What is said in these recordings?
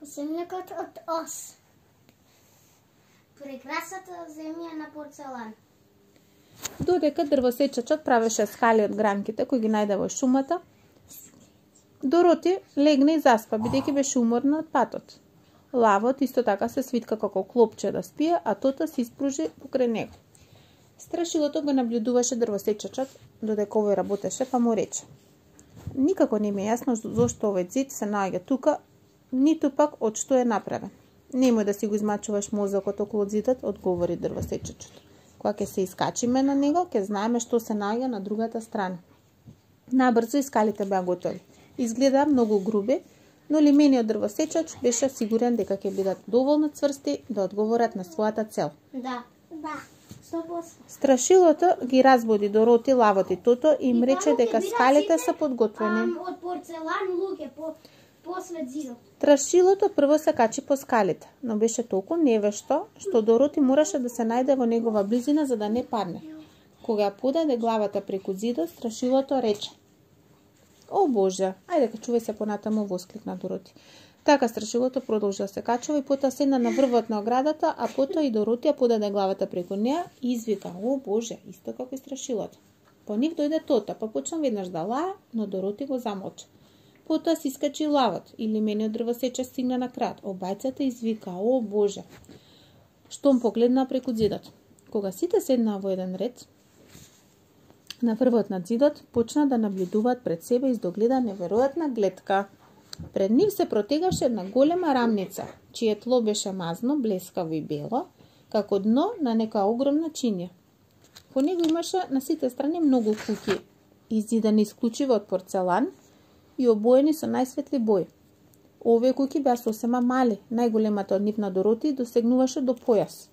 Земјакот од ос. Прекрасната земја на порцелан. Додека дрвосечачот правеше скали од гранките кои ги најде во шумата, Дороти легна и заспа, бидејќи беше уморна од патот. Лавот исто така се свитка како клопче да спие, а Тота се испружи покрај него. Страшилото го наблюдуваше дрвосечачот, додека овој работеше, па му рече: никако не ми е јасно зошто овој зид се наоѓа тука, ниту пак од што е направен. Немој да си го измачуваш мозокот околу зидот, одговори дрвосечачот. Кога ќе се искачиме на него, ќе знаеме што се наоѓа на другата страна. Набрзо и скалите беа готови. Изгледа многу груби, но лимениот дрвосечач беше сигурен дека ќе бидат доволно цврсти да одговорат на својата цел. Да. 100%. Страшилото ги разбуди Дороти, Лавот и Тото и им рече дека скалите се подготвени. Од порцелан луѓе после зидот. Страшилото прво се качи по скалите, но беше толку невешто што Дороти мораше да се најде во негова близина за да не падне. Кога ја подаде главата преку зидот, Страшилото рече: о Боже, ајде качувај се понатаму, воскликна Дороти. Така Страшилото продолжи да се качува и потоа седна на врвот на оградата, а потоа и Дороти ја подаде главата преку неа и извика: о Боже, исто како и Страшилото. По нив дојде Тота, па почна веднаш да лае, но Дороти го замолча. Потоа си искачи Лавот и лимениот дрвосечач стигна на крајот. Обајцата извика: о Боже, штом погледна преку зидот. Кога сите седнаа во еден ред на врвот на зидот, почна да наблюдуваат пред себе издогледа неверојатна гледка. Пред нив се протегаше една голема рамница, чие тло беше мазно, блескаво и бело, како дно на некоја огромна чинија. По него имаше на сите страни многу куќи, изидани исклучиво од порцелан и обоени со најсветли бои. Овие куќи беа сосема мали, најголемата од нив на Дороти досегнуваше до појас.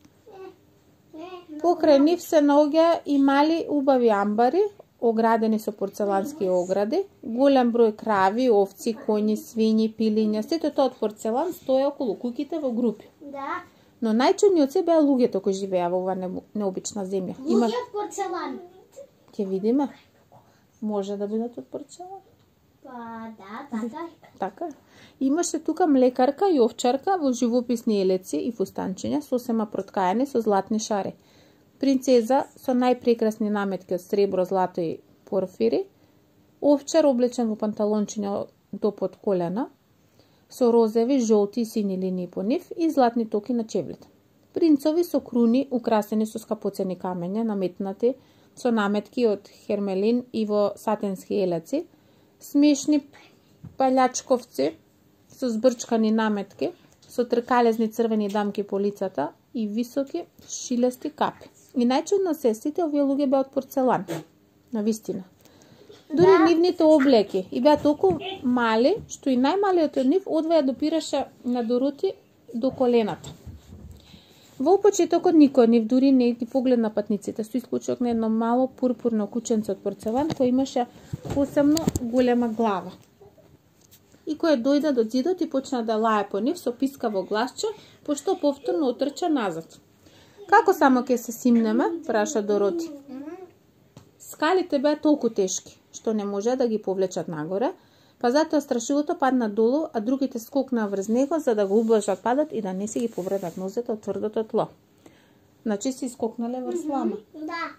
Покрај нив се наоѓа и мали убави амбари, оградени со порцелански огради, голем број крави, овци, коњи, свињи, пилиња, сето тоа од порцелан стоја околу куќите во групи. Да. Но најчудни од се беа луѓето кои живеа во оваа необична земја. Луѓе од порцелан. Ќе видиме. Може да бидат од порцелан. Па да, така. Така. Имаше тука млекарка и овчарка во живописни елеци и фустанчиња, сосема проткаени со златни шари. Принцеза со најпрекрасни наметки од сребро, злато и порфири, овчар облечен во панталончиња до под колена, со розеви, жолти и сини линии по нив и златни токи на чевлите. Принцови со круни украсени со скапоцени камења, наметнати со наметки од хермелин и во сатенски елеци, смешни палјачковци со збрчкани наметки, со тркалезни црвени дамки по лицата и високи шилести капи. И најчудно се сите овие луѓе беа од порцелан. Навистина. Дури нивните облеки и беа толку мали, што и најмалиот од нив одваја допираше на Дороти до колената. Во почетокот никој од нив дури не ги погледна патниците, со исклучок на едно мало пурпурно кученце од порцелан кој имаше посебно голема глава. И кој дојде до зидот и почна да лае по нив со пискаво гласче, пошто повторно отрча назад. Како само ќе се симнеме, праша Дороти. Скалите беа толку тешки, што не може да ги повлечат нагоре, па затоа Страшилото падна долу, а другите скокнаа врз него за да го ублажат падот и да не си ги повредат нозете од тврдото тло. Значи си скокнале врз лама. Да.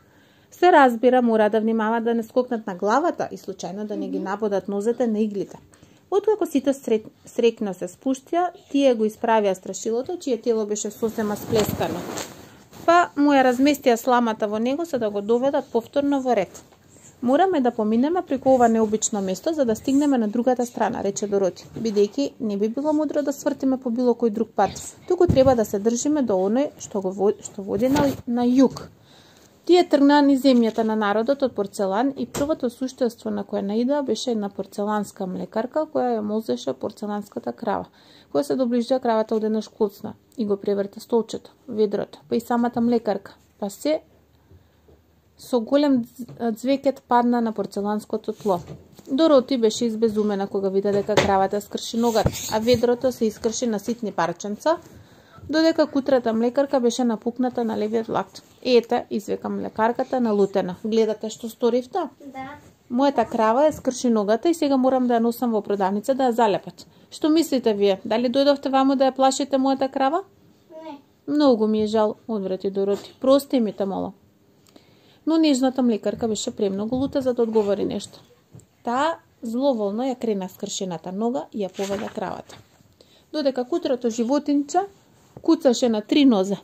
Се разбира, мора да внимаваат да не скокнат на главата и случајно да не ги набодат нозете на иглите. Откако сите срекно се спуштија, тие го исправија Страшилото, чие тело беше сосема сплескано. Па му ја разместија сламата во него за да го доведат повторно во ред. Мораме да поминеме преку ова необично место за да стигнеме на другата страна, рече Дороти, бидејќи не би било мудро да свртиме по било кој друг пат. Туку треба да се држиме до оној што води на југ. Тие тргнаа низ земјата на народот од порцелан и првото суштество на кое наидоа беше една порцеланска млекарка која ја молзеше порцеланската крава. Кога се доближија, кравата одеднаш клуцна и го преврте столчето, ведрото, па и самата млекарка, па се со голем ѕвекет падна на порцеланското тло. Дороти беше избезумена кога вида дека кравата скрши ногата, а ведрото се искрши на ситни парченца, додека кутрата млекарка беше напукната на левиот лакт. Ете, извика млекарката налутена. Гледате што сторивте? Да. Мојата крава е скрши ногата и сега морам да ја носам во продавница да ја залепат. Што мислите вие? Дали дојдовте ваму да ја плашите мојата крава? Не. Многу ми е жал, одврати Дороти. Прости ми те, мола. Но нежната млекарка беше премногу лута за да одговори нешто. Таа зловолно ја крена скршената нога и ја поведа кравата. Додека кутрото животинче куцаше на 3 нозе.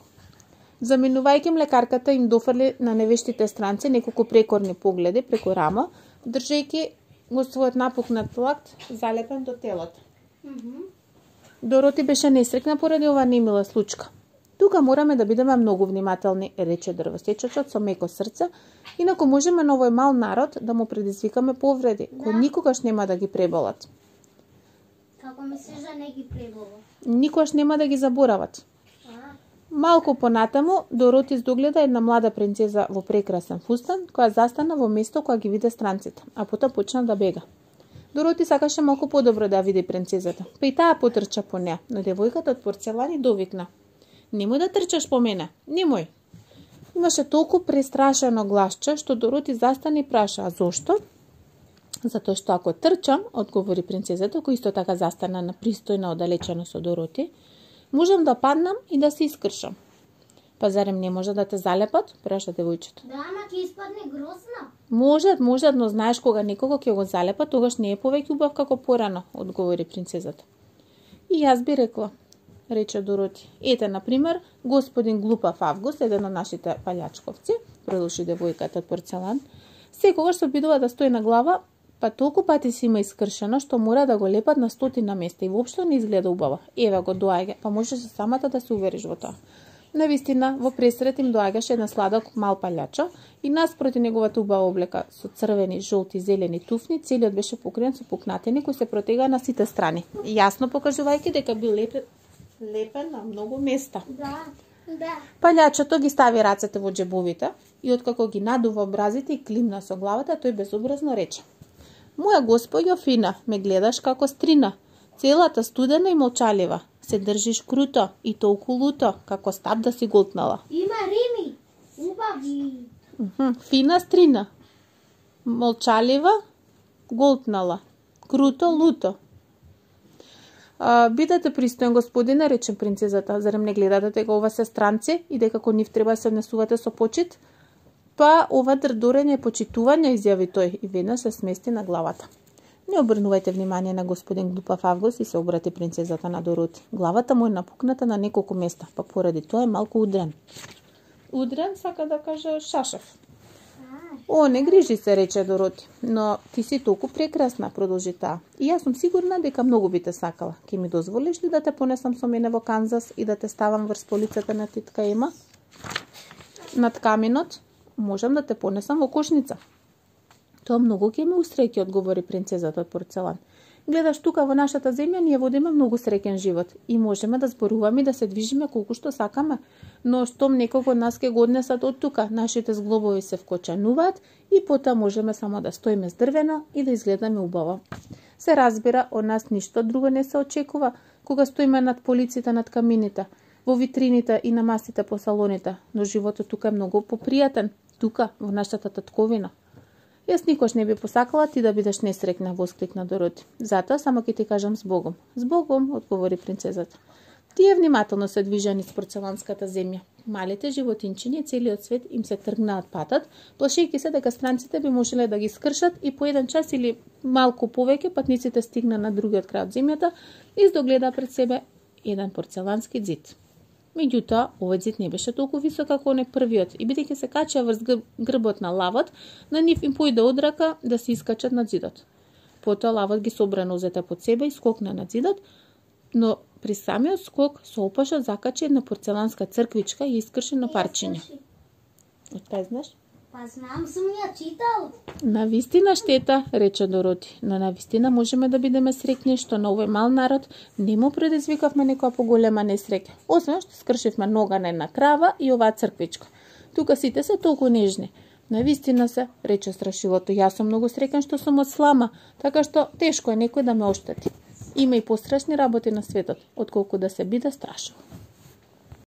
Заминувајќи млекарката им дофрли на невештите странци неколку прекорни погледи преку рама, држејќи го својот напукнат лакт залепен до телото. Дороти беше несрекна поради оваа немила случка. Тука мораме да бидеме многу внимателни, рече дрвосечачот со меко срце, инаку можеме на овој мал народ да му предизвикаме повреди, кои никогаш нема да ги преболат. Како мислиш да не ги пребола? Никогаш нема да ги заборават. Малку понатаму, Дороти издогледа една млада принцеза во прекрасен фустан, која застана во место која ги виде странците, а потоа почна да бега. Дороти сакаше малку подобро да ја види принцезата, па и таа потрча по неа, но девојката од порцелан и довикна. Немој да трчаш по мене, немој. Имаше толку престрашено гласче, што Дороти застана и праша, а зошто? Затоа што ако трчам, одговори принцезата, која исто така застана на пристојна оддалечено со Дороти, можам да паднам и да се искршам. Па зарем не може да те залепат? Праша девојчето. Да, ама ќе испадне грозна. Можат, но знаеш кога некого ќе го залепат, тогаш не е повеќе убав како порано, одговори принцезата. И јас би рекла, рече Дороти. Ете, например, господин Глупав Август, еден од нашите палјачковци, продолжи девојката од порцелан, секогаш се обидува да стои на глава, па толку пати си има искршено, што мора да го лепат на 100 места и воопшто не изгледа убаво. Еве го доаѓа, па можеш самата да се увериш во тоа. Навистина, во пресрет им доаѓаше една сладок мал палјачо и наспроти неговата убава облека со црвени, жолти, зелени туфни, целиот беше покриен со пукнатини кои се протегаа на сите страни, јасно покажувајќи дека бил лепен на многу места. Да. Палјачото ги стави рацете во џебовите и откако ги надува образите и климна со главата, тој безобразно рече: Моја госпоѓо фина, ме гледаш како стрина, целата студена и молчалива, се држиш круто и толку луто, како стап да си голтнала. Има рими, убави. Фина стрина, молчалива, голтнала, круто, луто. Бидете пристоен, господине, рече принцезата, зарем не гледате дека ова се странци и дека кон нив треба да се однесувате со почит? Па ова дрдорење е почитување, изјави тој и веднаш се смести на главата. Не обрнувајте внимание на господин Глупав Август и се обрати принцезата на Дороти. Главата му е напукната на неколку места, па поради тоа е малку удрен. Удрен сака да каже шашев. О, не грижи се, рече Дороти, но ти си толку прекрасна, продолжи таа. И јас сум сигурна дека многу би те сакала. Ке ми дозволиш ли да те понесам со мене во Канзас и да те ставам врз полицата на титка Ема? Над каминот? Можам да те понесам во кошница. Тоа многу ќе ме усреќи, одговори принцезата од порцелан. Гледаш, тука во нашата земја ние водиме многу среќен живот и можеме да зборуваме и да се движиме колку што сакаме, но штом некој од нас ќе го однесат од тука, нашите зглобови се вкочануваат и потоа можеме само да стоиме здрвено и да изгледаме убаво. Се разбира, од нас ништо друго не се очекува кога стоиме над полиците, над камините, во витрините и на масите по салоните, но животот тука е многу попријатен, тука во нашата татковина. Јас никош не би посакала ти да бидеш несрекна, воскликна Дороти. Затоа само ќе ти кажам с Богом. С Богом, одговори принцезата. Тие внимателно се движа низ порцеланската земја. Малите животинчиња целиот свет им се тргнаат патот, плашејќи се дека странците би можеле да ги скршат и по еден час или малку повеќе патниците стигна на другиот крај од земјата и издогледа пред себе еден порцелански ѕид. Меѓутоа, овој ѕид не беше толку висок како оној првиот и бидејќи се качаа врз грбот на лавот, на нив им појде од рака да се искачат над ѕидот. Потоа лавот ги собра нозете под себе и скокна над ѕидот, но при самиот скок со опашот закачи една порцеланска црквичка и искрши на парчиња. Откај знаеш? Па знам, сум ја читал. Навистина штета, рече Дороти, но навистина можеме да бидеме среќни што на овој мал народ не му предизвикавме некоја поголема несреќа, освен што скршивме нога на една крава и оваа црквичка. Тука сите се толку нежни. Навистина се, рече страшилото, јас сум многу среќен што сум од слама, така што тешко е некој да ме оштети. Има и пострашни работи на светот, отколку да се биде страшил.